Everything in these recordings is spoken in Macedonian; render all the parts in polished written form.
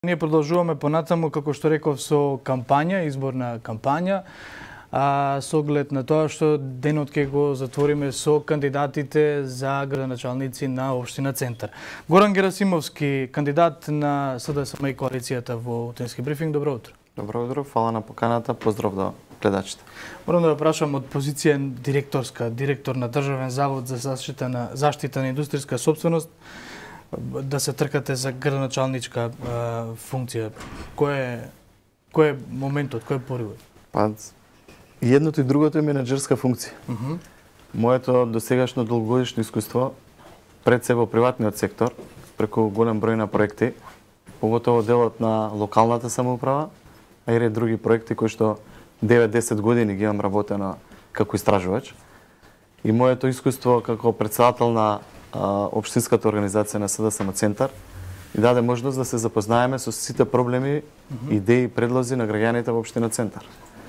Ние продолжуваме понатаму, како што реков, со кампања, изборна кампања, со оглед на тоа што денот ќе го затвориме со кандидатите за градоначалници на општина Центар. Горан Герасимовски, кандидат на СДСМ и коалицијата во Утенски брифинг, добро утро. Добро утро, фала на поканата, поздрав до гледачите. Морам да ве прашам од позиција директор на Државен завод за заштита на индустријска сопственост, да се тркате за градоначалничка функција. Кој е моментот, кој е поривот? Па, едното и другото е менаџерска функција. Моето досегашно долгогодишно искуство пред себе во приватниот сектор, преку голем број на проекти, поготово делот на локалната самоуправа, а и ред други проекти кои што 9-10 години ги имам работено како истражувач. И моето искуство како претседател на општинската организација на СДСМ Центар и даде можност да се запознаеме со сите проблеми, идеи и предлози на граѓаните во општина Центар.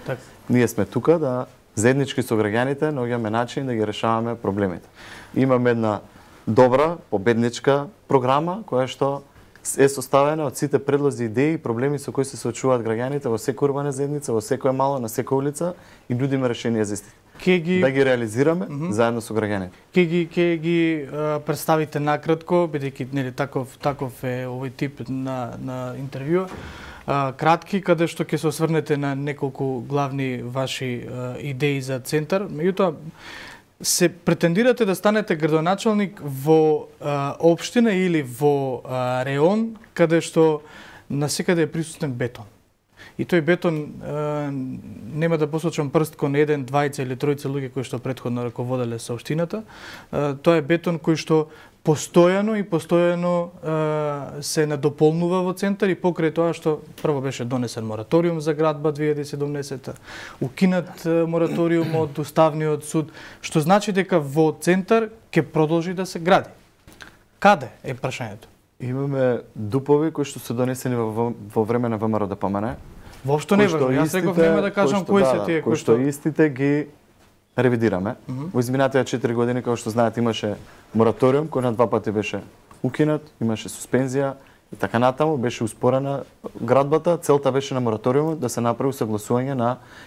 Так. Ние сме тука да заеднички со граѓаните наоѓаме начин да ги решаваме проблемите. Имаме една добра победничка програма која што е составена од сите предлози, идеи и проблеми со кои се соочуваат граѓаните во секоја урбана заедница, во секоја мало, на секоја улица и нудиме решенија за истите. Да ги реализираме заедно со граѓаните. Ќе ги представите накратко, бидејќи нели таков е овој тип на интервју. Кратки, каде што ќе се осврнете на неколку главни ваши идеи за Центар. Меѓутоа, се претендирате да станете градоначалник во општина или во реон каде што насекаде е присутен бетон. И тој бетон, нема да посочам прст кон еден, двајца или тројца луѓе кои што претходно раководеле со општината, тоа е бетон кој што постојано се надополнува во Центар и покрај тоа што прво беше донесен мораториум за градба 2017, укинат мораториум од Уставниот суд, што значи дека во Центар ќе продолжи да се гради. Каде е прашањето? Имаме дупови кои што се донесени во време на ВМРО ДПМН. Воопшто не важно. Јас реков нема да кажам кои се тие кои што истите ги ревидираме. Во изминатите 4 години, како што знаете, имаше мораториум кој на 2 пати беше укинат, имаше суспензија и така натаму, беше успорена градбата. Целта беше на мораториумот да се направи согласување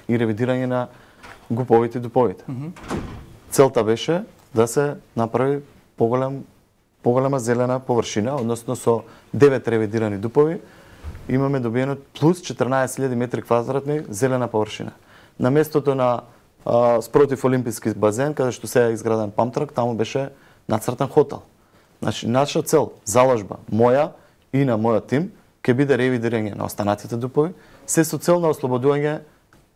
и ревидирање на ГУП-овите и ДУП-овите. Целта беше да се направи поголема зелена површина, односно со 9 ревидирани ДУП-ови имаме добиено плюс 14.000 метри квадратни зелена површина. На местото на спротив Олимписки базен, каде што се е изграден памтрак, таму беше нацртан хотел. Значи, наша цел, заложба, моја и на мојот тим, ќе биде ревидирање на останатите ДУП-ови, се со цел на ослободување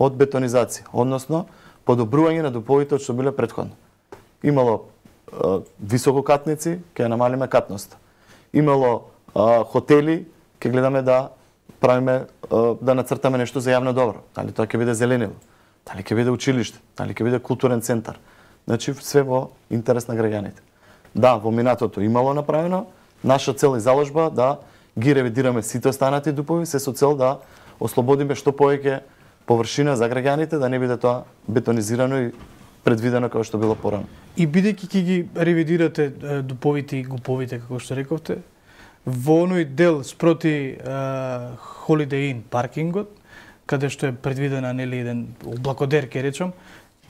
од бетонизација, односно подобрување на ДУП-овите од што биле претходно. Имало висококатници, ќе намалиме катноста. Имало хотели, ќе гледаме да правиме, да нацртаме нешто за јавно добро. Дали тоа ќе биде зеленило, дали ќе биде училиште, дали ќе биде културен центар. Значи, све во интерес на граѓаните. Да, во минатото имало направено, наша цел и заложба да ги ревидираме сите останати ДУП-ови, се со цел да ослободиме што повеќе површина за граѓаните, да не биде тоа бетонизирано и предвидено како што било порано. И бидејќи ќе ги ревидирате ДУП-овите и ГУП-овите, како што рековте, во оној дел спроти Holiday Inn паркингот, каде што е предвидена нели еден облакодер, ќе речам,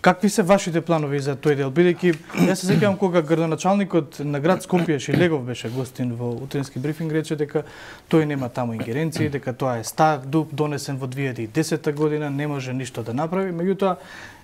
какви се вашите планови за тој дел? Бидејќи јас се сеќавам кога градоначалникот на град Скопје Шилегов беше гостин во Утенски брифинг, рече дека тој нема таму ингеренции, дека тоа е стар ДУП донесен во 2010 година, не може ништо да направи. Меѓутоа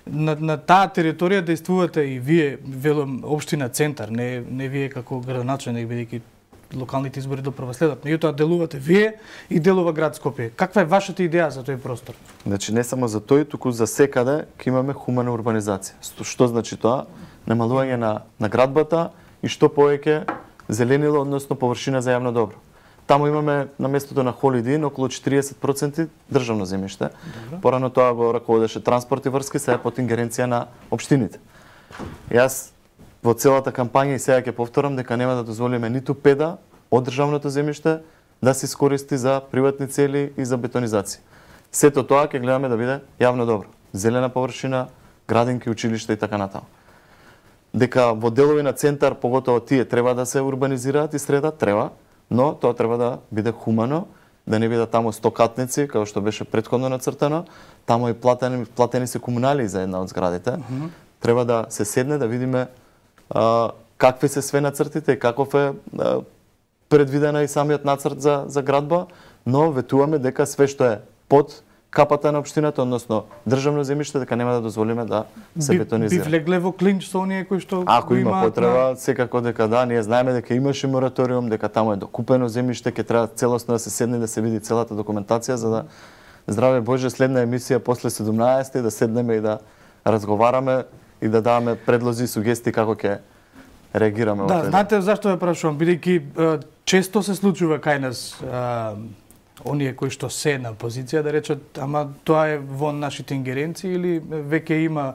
на таа територија действувате и вие, велам, општина Центар, не вие како градоначалник, бидејќи локалните избори допрва следат. Меѓутоа делувате вие и делува град Скопје. Каква е вашата идеја за тој простор? Значи не само за тој, туку за секаде ќе имаме хумана урбанизација. Што значи тоа? Намалување на градбата и што повеќе зеленило, односно површина за јавно добро. Таму имаме на местото на Holiday Inn околу 40% државно земјиште. Порано тоа го раководеше транспорт и врски, сега е под ингеренција на општините. Јас во целата кампања и сега ќе повторам дека нема да дозволиме ниту педа од државното земјиште да се искористи за приватни цели и за бетонизација. Сето тоа ќе гледаме да биде јавно добро. Зелена површина, градинки, училишта и така натаму. Дека во делови на Центар, поготово тие треба да се урбанизираат и средат, треба, но тоа треба да биде хумано, да не бидат таму стокатници, како што беше претходно нацртано, таму и платени се комунали за една од зградите. Треба да се седне да видиме какви се све нацртите и каков е предвидена и самиот нацрт за градба, но ветуваме дека све што е под капата на општината, односно државно земјиште, дека нема да дозволиме да се бетонизира. Би влегле во клинч со оние кои што ако има потреба, секако дека да, ние знаеме дека имаше мораториум, дека таму е докупено земјиште, ќе треба целосно да се седне да се види целата документација за да здраве Боже следна емисија после 17 да седнеме и да разговараме и да даваме предлози и сугестии како ќе реагираме. Да, знаете зашто ја прашувам, бидејќи често се случува кај нас оние кои што се на позиција да речат, ама тоа е во нашите ингеренции или веќе има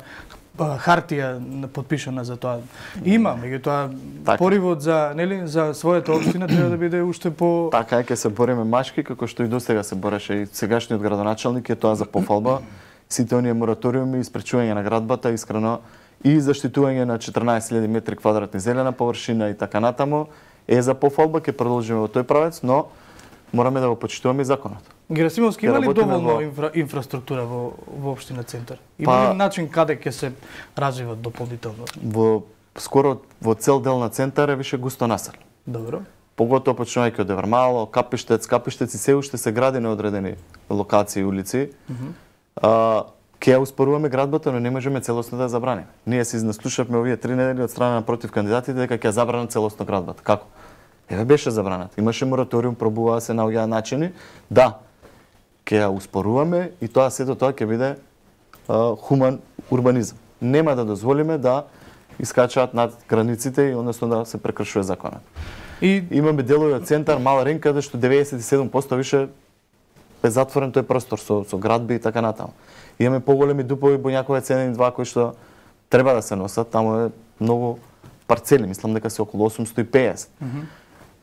хартија подпишана за тоа. Има, меѓутоа поривот за, нели, за својата општина треба да биде уште по Така е, ќе се бориме машки како што и досега се бореше и сегашниот градоначалник е тоа за пофалба. Сите оние мораториуми и спречување на градбата искрено и заштитување на 14.000 метри квадратни зелена површина и така натаму е за пофалба, ќе продолжиме во тој правец, но мораме да го почитуваме и законот. Герасимовски има ли доволно инфраструктура во општина Центар? Има ли начин каде ќе се развиват дополнително? Скоро во цел дел на Центар е више густо населен. Добро. Поготово почнувајќи од Евармало, Капиштец и се уште се гради на одредени локации и улици. Ќе ја успоруваме градбата, но не можеме целосно да ја забраниме. Ние се изнаслушавме овие 3 недели од страна на против кандидатите дека ќе ја забранат целосно градбата. Како? Еве беше забранат. Имаше мораториум, пробуваа се наоѓаа начини. Да, ќе ја успоруваме и тоа сето тоа ќе биде хуман урбанизам. Нема да дозволиме да искачаат над границите и односно да се прекршува законот. И имаме делови од Центар, Мала Рин, каде што 97% више е затворен тој простор со градби и така натаму. Имаме поголеми дупови Боњакове Ценени 2 кои што треба да се носат, таму е многу парцели, мислам дека се околу 850.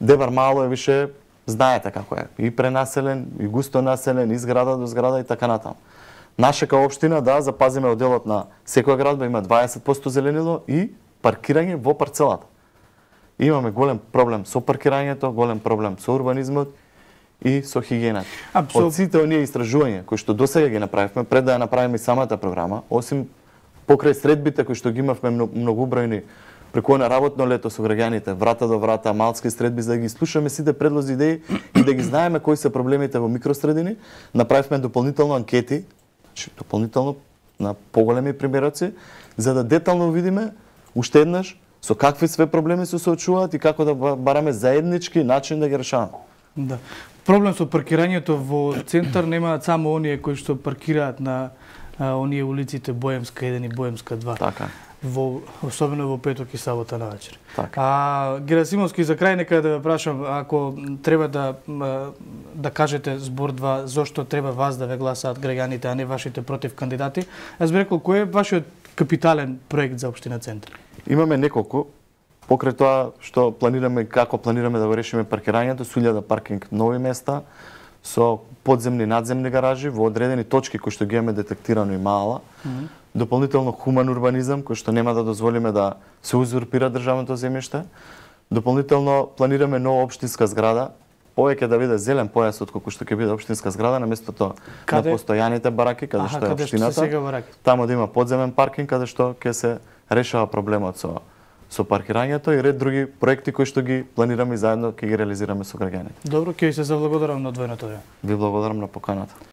Девар Мало е више, знаете како е, и пренаселен, и густо населен, и зграда до зграда и така натаму. Наша као општина, да, запазиме одделот на секоја градба, има 20% зеленило и паркирање во парцелата. Имаме голем проблем со паркирањето, голем проблем со урбанизмот и со хигиената. Од сите оние истражувања кои што досега ги направивме, пред да ја направиме и самата програма, осим покрај средбите кои што ги имавме многобројни преку на работно лето со граѓаните, врата до врата, малски средби, за да ги слушаме сите предлози, идеи и да ги знаеме кои се проблемите во микросредини, направивме дополнително анкети, дополнително на поголеми примероци, за да детално видиме уште еднаш со какви све проблеми се соочуваат и како да бараме заеднички начин да ги решаваме. Да. Проблем со паркирањето во Центар немаат само оние кои што паркираат на оние улиците Боемска 1 и Боемска 2. Така. Особено во петок и сабота навечер. Така. Герасимовски, за крај нека да ве прашам, ако треба да кажете збор два, зошто треба вас да ве гласаат граѓаните, а не вашите против кандидати, јас би рекол, кој е вашиот капитален проект за општина Центар? Имаме неколку. Покрај тоа што планираме и како планираме да го решиме паркирањето, со 1000 паркинг нови места, со подземни и надземни гаражи во одредени точки кои што ги имаме детектирано и мала. Дополнително хуман урбанизам, кој што нема да дозволиме да се узурпира државното земјиште. Дополнително планираме нова општинска зграда, повеќе да биде зелен појас од колку што ќе биде општинска зграда на местото на постојаните бараки, каде што е општината. Таму да има подземен паркинг, каде што ќе се решава проблемот со паркирањето и ред други проекти кои што ги планираме и заедно ќе ги реализираме со граѓаните. Добро, ќе ви се заблагодарам на одвоеното време. Ви благодарам на поканата.